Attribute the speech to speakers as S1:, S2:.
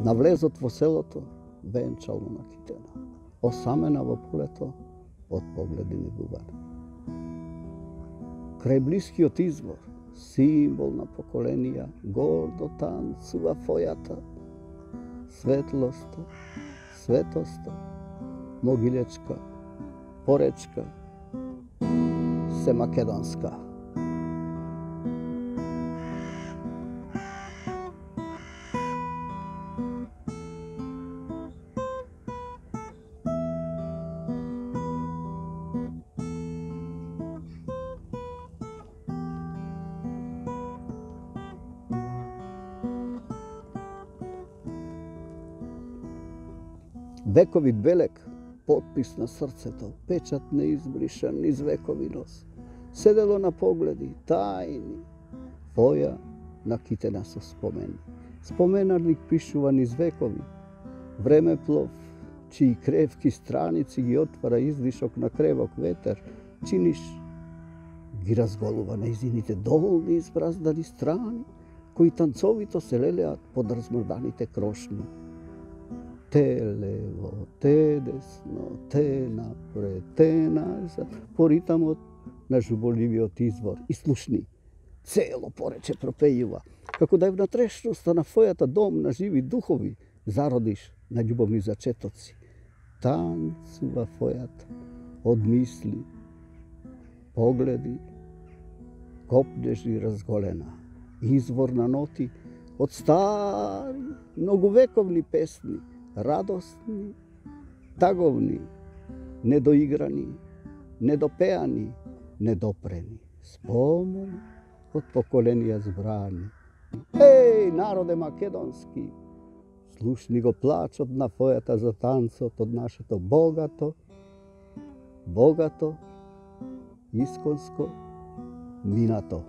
S1: Навлезот во селото, венчално на китена, осамена во полето, од погледини бубари. Крај блискиот извор, символ на поколенија, гордо танцува фојата, светлоста, светоста, могилечка, поречка, се македонска. Вековит белег, потпис на срцето, печат неизбришан низ векови нос. Седело на погледи, тајни, фоја на китена со спомени. Споменарник пишува низ векови, времеплов, чии кревки страници ги отвара издишок на кревок ветер, чиниш ги разголува нејзините долни избраздани страни, кои танцовито се лелеат под размрданите крошни. Те лево, те десно, те напред, те назад, по ритамот на жуболивиот извор и слушни. Цело порече пропејува, како да е внатрешноста на фојата дом на живи духови, зародиш на љубовни зачетоци. Танцува фојата од мисли, погледи, копнежи разголена, извор на ноти од стари, многовековни песни, радосни, таговни, недоиграни, недопеани, недопрени, спомени од поколенија збрани. Еј, народе македонски, слушни го плачот на фојата за танцот од нашето богато, исконско минато.